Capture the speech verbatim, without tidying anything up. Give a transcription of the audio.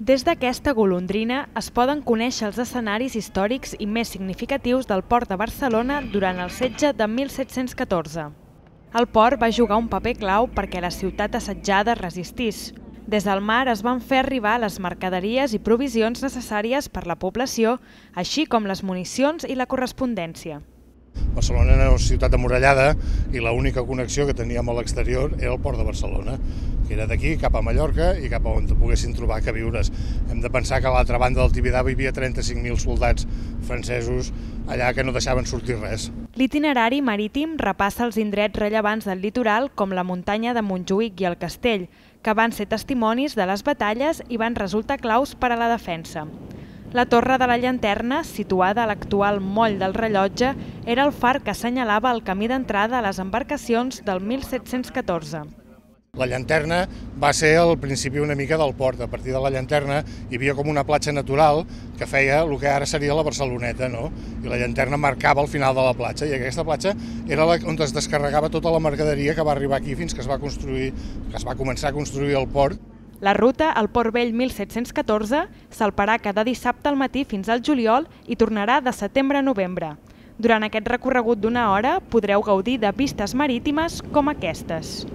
Des d'aquesta golondrina es poden conèixer els escenaris històrics i més significatius del port de Barcelona durant el setge de mil set-cents catorze. El port va jugar un paper clau perquè la ciutat assetjada resistís. Des del mar es van fer arribar les mercaderies i provisions necessàries per la població, així com les municions i la correspondència. Barcelona era una ciutat amurallada i l'única connexió que teníem a l'exterior era el port de Barcelona, que era d'aquí cap a Mallorca i cap a on poguessin trobar queviures. Hem de pensar que a l'altra banda del Tibidabo hi havia trenta-cinc mil soldats francesos allà que no deixaven sortir res. L'itinerari marítim repassa els indrets rellevants del litoral com la muntanya de Montjuïc i el castell, que van ser testimonis de les batalles i van resultar claus per a la defensa. La Torre de la Llanterna, situada a l'actual moll del Rellotge, era el far que assenyalava el camí d'entrada a les embarcacions del mil set-cents catorze. La llanterna va ser al principi una mica del port. A partir de la llanterna hi havia com una platja natural que feia el que ara seria la Barceloneta, no? I la llanterna marcava el final de la platja, i aquesta platja era on es descarregava tota la mercaderia que va arribar aquí fins que es va construir, que es va començar a construir el port. La ruta al Port Vell mil set-cents catorze salparà cada dissabte al matí fins al juliol i tornarà de setembre a novembre. Durant aquest recorregut d'una hora podreu gaudir de vistes marítimes com aquestes.